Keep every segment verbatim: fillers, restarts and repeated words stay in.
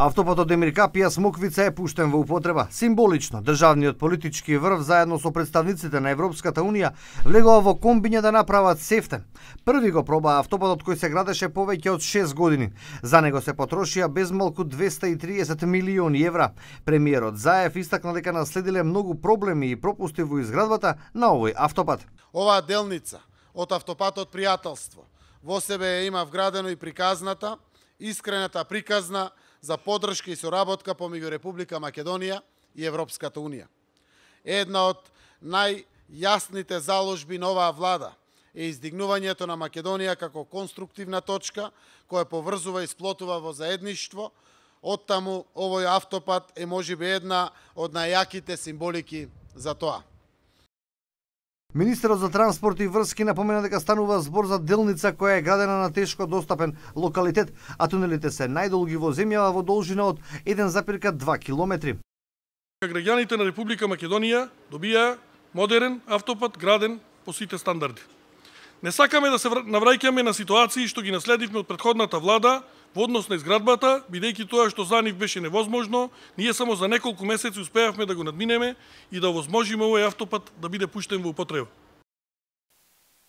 Автопатот Демиркапија Смоквица е пуштен во употреба. Символично, државниот политички врв заедно со представниците на Европската Унија влегува во комбиња да направат сефтен. Први го проба автопатот кој се градеше повеќе од шест години. За него се потрошија безмалку двесте и триесет милиони евра. Премиерот Заев истакна дека наследиле многу проблеми и пропусти во изградбата на овој автопат. Оваа делница од автопатот Пријателство во себе има вградено и приказната, искрената приказна за поддршка и соработка помеѓу Република Македонија и Европската Унија. Една од најјасните заложби на оваа влада е издигнувањето на Македонија како конструктивна точка која поврзува и сплотува во заедништво. Оттаму овој автопат е можеби една од најјаките символики за тоа. Министерот за транспорт и врски напомена дека станува збор за делница која е градена на тешко достапен локалитет, а тунелите се најдолги во земјава во должина од еден запирка два километри. Граѓаните на Република Македонија добија модерен автопат граден по сите стандарди. Не сакаме да се навраќаме на ситуации што ги наследивме од претходната влада во однос на изградбата, бидејќи тоа што за нив беше невозможно, ние само за неколку месеци успеавме да го надминеме и да овозможиме овој автопат да биде пуштен во употреба.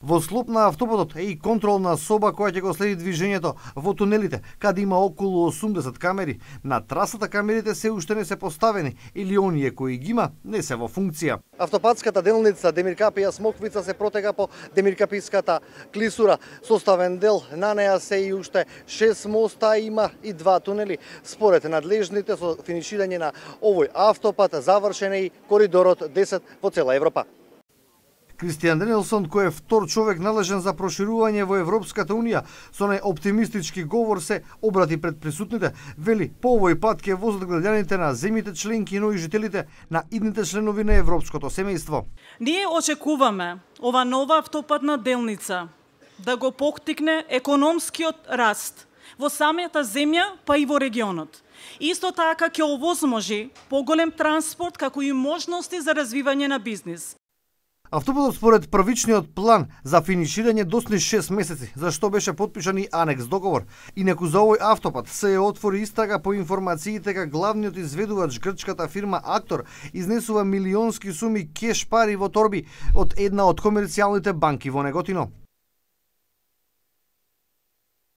Во склоп на автопатот е и контролна соба која ќе го следи движењето во тунелите, каде има околу осумдесет камери. На трасата камерите се уште не се поставени или оние кои ги има не се во функција. Автопатската делница Демиркапија Смоквица се протега по Демиркаписката клисура. Составен дел на неа се и уште шест моста, има и два тунели. Според надлежните со финиширање на овој автопат завршен е и коридорот десет во цела Европа. Кристијан Денелсон, кој е втор човек належен за проширување во Европската Унија, со најоптимистички говор се обрати пред присутните, вели по овој пат ќе возат граѓаните на земјите членки, но и жителите на идните членови на европското семејство. Ние очекуваме ова нова автопатна делница да го поттикне економскиот раст во самата земја, па и во регионот. Исто така ќе овозможи поголем транспорт како и можности за развивање на бизнис. Автопатот според првичниот план за финиширање досни шест месеци, за што беше потпишан и анекс договор. Инаку за овој автопат се ја отвори истрага по информациите дека главниот изведувач грчката фирма Актор изнесува милионски суми кеш пари во торби од една од комерцијалните банки во Неготино.